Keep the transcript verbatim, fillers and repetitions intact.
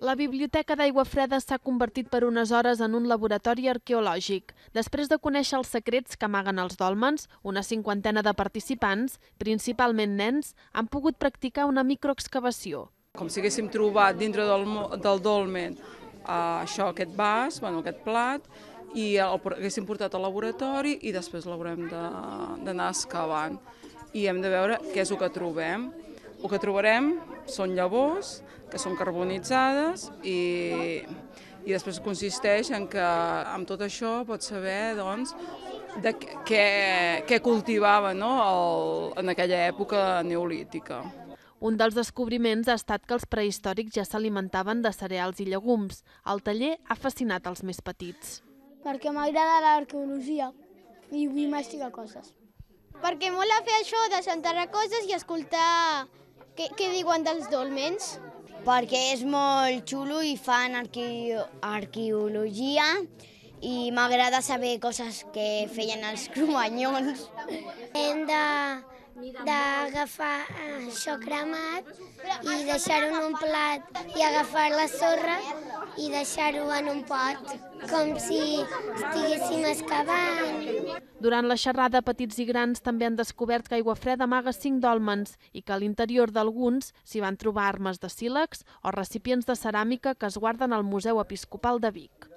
La Biblioteca d'Aiguafreda s'ha convertit per unes hores en un laboratori arqueològic. Després de conèixer els secrets que amaguen els dòlmens, una cinquantena de participants, principalment nens, han pogut practicar una microexcavació. Com si haguéssim trobat dintre del, del dolmen uh, això, aquest vas, bueno, aquest plat, i el haguéssim portat al laboratori i després l'haurem d'anar excavant. I hem de veure què és el que trobem. El que trobarem són llavors que són carbonitzades i, i després consisteix en que amb tot això pots saber doncs, de què, què cultivava, no, el, en aquella època neolítica. Un dels descobriments ha estat que els prehistòrics ja s'alimentaven de cereals i llegums. El taller ha fascinat els més petits. Perquè m'agrada l'arqueologia i vull investigar coses. Perquè mola fer això, desenterrar coses i escoltar què, què diuen dels dolmens. Perquè és molt xulo i fan arque arqueologia i m'agrada saber coses que feien els cromanyons. Hem d'agafar això cremat i deixar-ho en un plat i agafar la sorra i deixar-ho en un pot, com si estiguéssim excavant. Durant la xerrada, petits i grans també han descobert que Aiguafreda amaga cinc dòlmens i que a l'interior d'alguns s'hi van trobar armes de sílex o recipients de ceràmica que es guarden al Museu Episcopal de Vic.